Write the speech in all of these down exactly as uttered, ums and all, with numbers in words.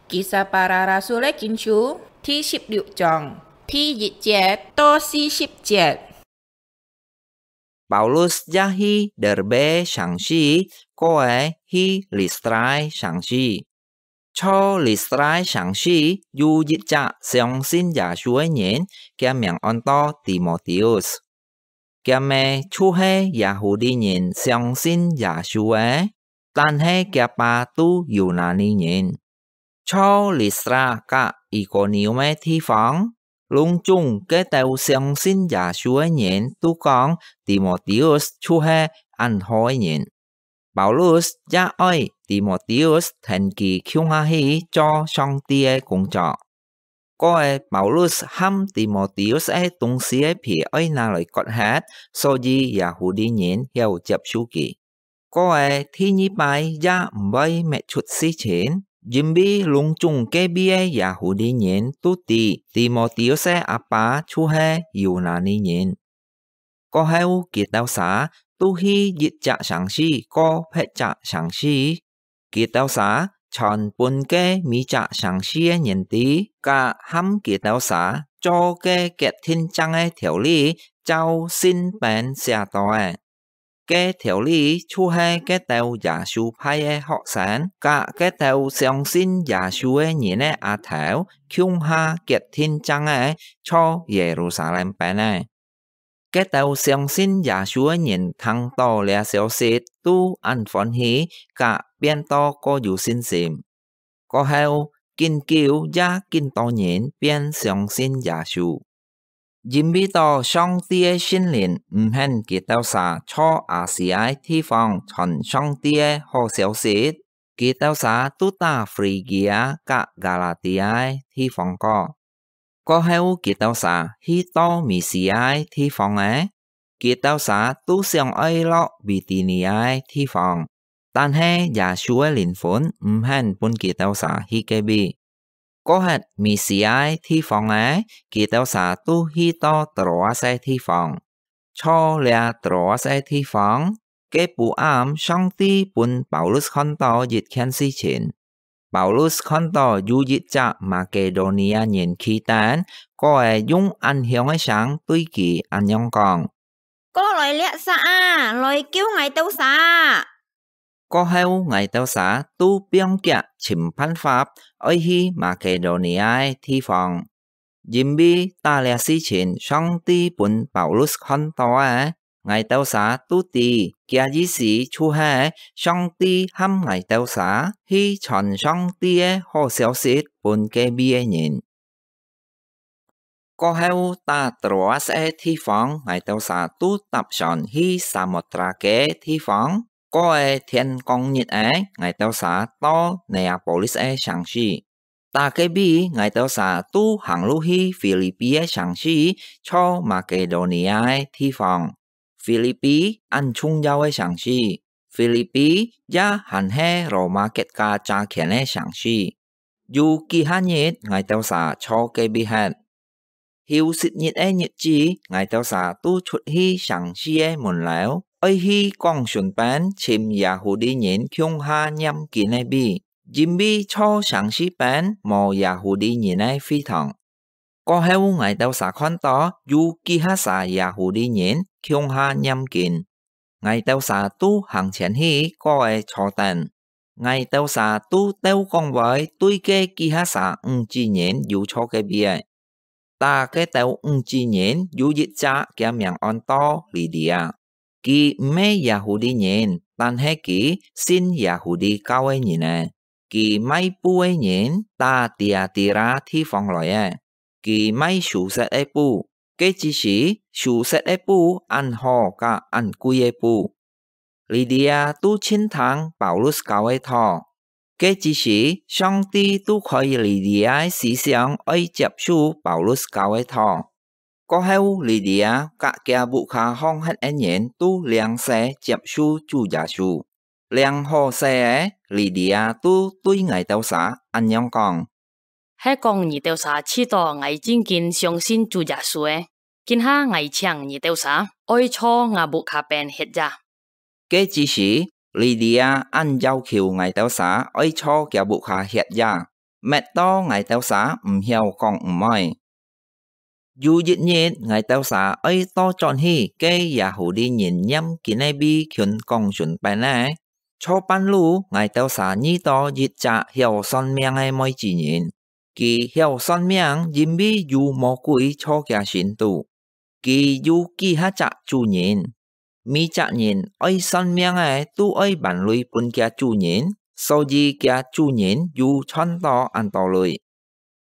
Kisah Para Rasul-é Kinsú第十六章第一節到四十節。 Paulus也去Derbe城市，過仔去Listra城市。在Listra城市有一隻相信耶穌个人，厥名安到Timoteus。厥姆就係Yahudi人相信耶穌个，但係厥爸都Yunani人。在Listra佮Ikonium个地方，攏總該兜相信耶穌个人都講Timoteus就係恁好个人。Paulus也愛Timoteus跈佢共下去做上帝个工作。 過仔Paulus和Timoteus个東西个皮愛拿來割忒，所以Yahudi人曉接受佢。過仔第二擺也毋會搣出事情，因為攏總該位个Yahudi人都知Timoteus个阿爸就係Yunani人。 過後佢兜儕都去一隻城市過別隻城市，佢兜儕傳分該每隻城市个人知，佮和佢兜儕做个決定正个條例照信本寫到个。該條例就係該兜耶穌派个學生，佮該兜相信耶穌个人个阿頭，共下決定正个在Yerusalem本个。 該兜相信耶穌个人聽到這消息，都恁歡喜，佮變到過有信心。過後，緊久也緊多人變相信耶穌。因為到上帝个聖靈毋肯佢兜儕在亞細亞个地方傳上帝个好消息，佢兜儕都到Frigia佮Galatia个地方過。 過後佢兜儕去到Misia个地方仔，佢兜儕都想愛落Bitinia个地方，但係耶穌个靈魂毋肯分佢兜儕去該位。過忒Misia个地方仔，佢兜儕都去到Troas个地方。 在這Troas个地方，該晡暗上帝分Paulus看到一件事情。Paulus看到有一隻Makedonia人企等，過仔用恁響个聲對佢恁樣講：「過來這儕啊，來救𠊎兜儕！」 過後𠊎兜儕都放遽尋辦法，愛去Makedonia个地方。因為打這事情上帝分Paulus看到个，𠊎兜儕都知，厥意思就係上帝喊𠊎兜儕去傳上帝个好消息分該位个人。 過後到Troas个地方，𠊎兜儕都搭船去Samotrake个地方。過仔天光日仔，𠊎兜儕到Neapolis个城市。到該位，𠊎兜儕都行路去Filipi个城市，在Makedonia个地方。Filipi恁重要个城市，Filipi也還係羅馬國家揸權个城市。 有幾下日，𠊎兜儕在該位歇。休息日个日子，𠊎兜儕都出去城市个門樓，愛去廣場邊尋Yahudi人共下念經个位，因為在城市邊無Yahudi人个會堂。過後，𠊎兜儕看到有幾下儕Yahudi人共下念經。 𠊎兜儕都行前去，過仔坐等。𠊎兜儕都鬥講話對該幾下儕女子人有坐該位仔。在該兜女子人有一隻，厥名安到Lidia。佢毋係Yahudi人，但係佢信Yahudi教个人仔。佢賣布个人，在Tiatira地方來个。 佢賣舒適个布，該之時舒適个布恁好佮恁貴个布。Lidia都盡聽Paulus教个道，該之時上帝都開Lidia个思想愛接受Paulus教个道。過後，Lidia佮厥屋下項歇个人都領洗接受主耶穌。領好洗个，Lidia都對𠊎兜儕恁樣講： 係講你兜儕試著𠊎真經相信主耶穌个，今下𠊎請你兜儕愛在吾屋下邊歇夜。該之時，Lidia恁要求𠊎兜儕愛在厥屋下歇夜。搣到𠊎兜儕毋曉講毋愛。有一日，𠊎兜儕愛倒轉去該耶戶利人念經个位群講脣邊仔，坐半路，𠊎兜儕遇到一隻曉算命个妹子人。佢曉算命，因為有魔鬼坐厥身肚。佢有幾下隻主人，每隻人愛算命个都愛還鐳分厥主人，所以厥主人有賺到恁多鐳。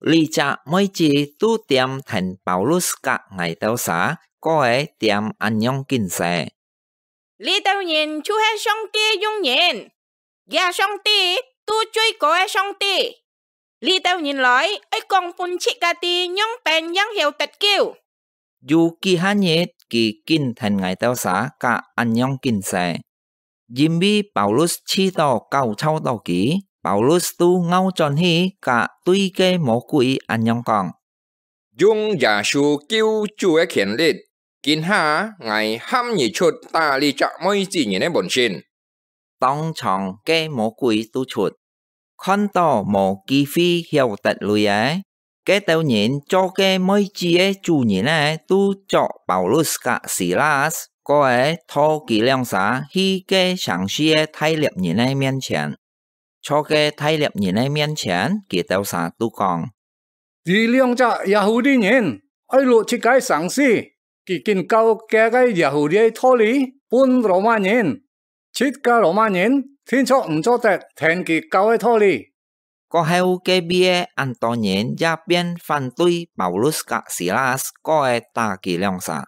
這隻妹子都恬跈Paulus佮𠊎兜儕，過个恬恁樣緊勢。這兜人就係上帝用人，厥上帝都最高个上帝。這兜人來，愛講分自家知仰般正曉得救。有幾下日，佢緊跈𠊎兜儕佮恁樣緊勢。因為Paulus試著搞吵著佢，Paulus都拗轉去，佮對該魔鬼恁樣講：用耶穌救主个權力，今下𠊎喊你出打這隻妹子人个本身。當場該魔鬼都出，看著無機會曉得鐳仔，該兜人做該妹子个主人仔都捉Paulus佮Silas，過个拖佢兩儕去該成市个大獵人个面前。坐該大獵人个面前，佢兜儕都講：這兩隻耶戶利人愛摝自家生死，佢緊教厥个耶戶利个道理分羅馬人，自家羅馬人定著毋做得聽佢教个道理。過後該位个恁多人也變反對Paulus佮Silas，過个打佢兩儕。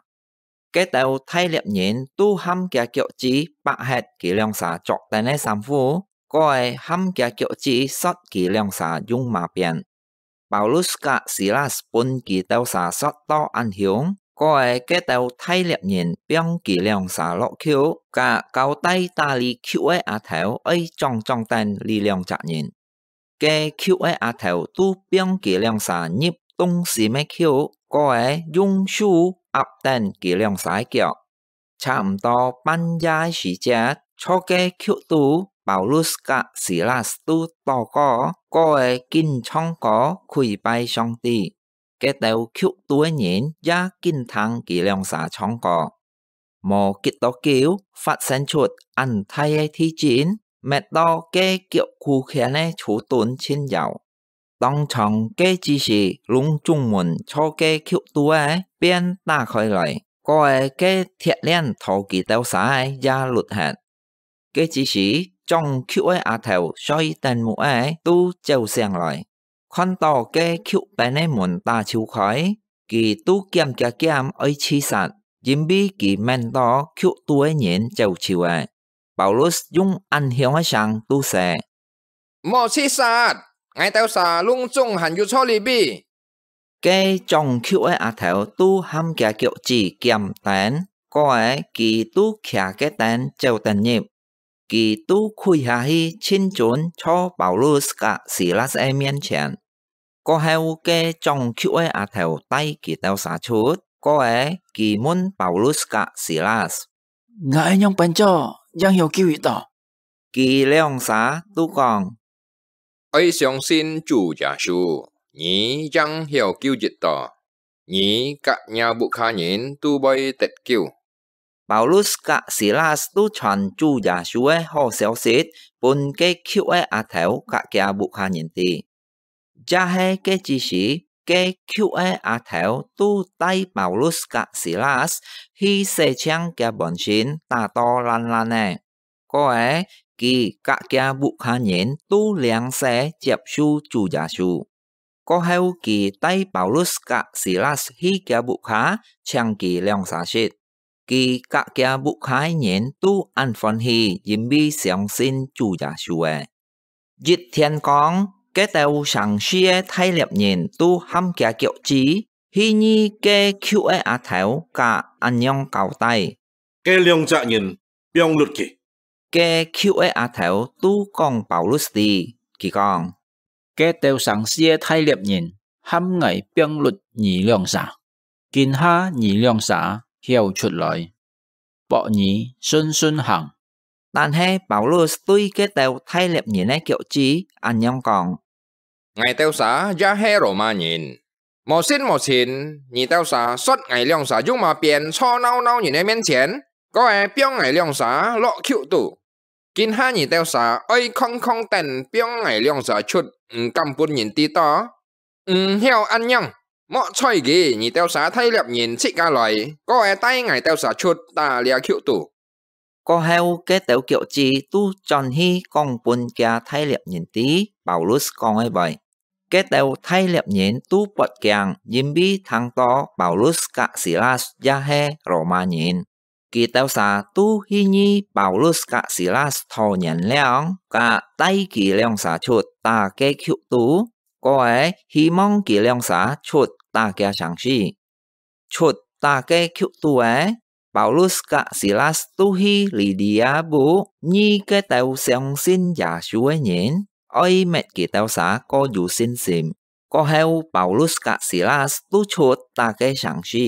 該兜大獵人都摎厥腳趾剝忒佢兩儕著等个衫褲，過个摎厥腳趾捒佢兩儕用麻鞭。Paulus佮Silas分佢兜儕捒到恁凶，過个該兜大獵人放佢兩儕落轎，佮交代打這轎个阿頭愛掌掌等這兩隻人。該轎个阿頭都放佢兩儕入中心个轎，過个用手壓等佢兩儕个腳。 差毋多半夜个時節，坐該轎肚，Paulus佮Silas都倒過，過个緊唱歌，跪拜上帝。該兜轎肚个人也緊聽佢兩儕唱歌。無幾多久，發生出恁大个地震，搣到該腳跍圈个手凳盡搖。 當場該支時，攏總門坐該轎肚个，便打開來，過个該鐵鏈拖佢兜儕个也縉忒。該支時，掌轎个阿頭睡等目个都走醒來，看著該轎邊个門打揫開，佢都兼厥兼愛自殺，因為佢愐著轎肚个人走揫了。Paulus用恁響个聲都說： 莫自殺！𠊎兜儕攏總還有坐這位。該掌轎个阿頭都摎厥腳趾兼等，過个佢都擎該等走等入。佢都跪下去，盡尊坐Paulus佮Silas个面前。 過後，該掌轎个阿頭帶佢兜儕出，過个佢問Paulus佮Silas：「𠊎愛仰般做，正曉救得到？」佢兩儕都講：「愛相信主耶穌，你正曉救得到，你佮你屋下人都會得救。」 Paulus佮Silas都傳主耶穌个好消息，分該轎个阿頭佮厥屋下人知。這係該支時，該轎个阿頭都帶Paulus佮Silas去洗淨厥本身打到爛爛个，過个佢佮厥屋下人都領洗接受主耶穌。 過後，佢帶Paulus佮Silas去厥屋下，請佢兩儕食。佢佮厥屋下个人都恁歡喜，因為相信主耶穌了。一天光，該兜成市个大獵人都摎厥腳趾，去遇該轎个阿頭，佮恁樣交代： 該兩隻人放忒佢。該轎个阿頭都講Paulus知，佢講：「該兜成市个大獵人喊𠊎放忒你兩儕，今下你兩儕曉出來，駁你順順行。」但係Paulus對該兜大獵人个腳趾恁樣講： 𠊎兜儕也係羅馬人。無信無情，你兜儕說𠊎兩儕用麼變坐鬧鬧人个面前，過後放𠊎兩儕落監肚。今下你兜儕愛空空等放𠊎兩儕出，毋敢分人知到。毋曉恁樣，莫睬佢，你兜儕大粒人自家來，過後帶𠊎兜儕出打這監肚。」過後，該兜腳趾都轉去講分厥大粒人知，Paulus講个話。該兜大粒人都發驚，因為聽到Paulus佮Silas也係羅馬人。佢兜儕都去議Paulus佮Silas討原諒，佮帶佢兩儕出打該監肚，過後希望佢兩儕出打厥生死。出打該監肚仔，Paulus佮Silas都去Lidia屋，議該兜相信耶穌个人，愛滅佢兜儕過有信心。過後，Paulus佮Silas都出打該生死。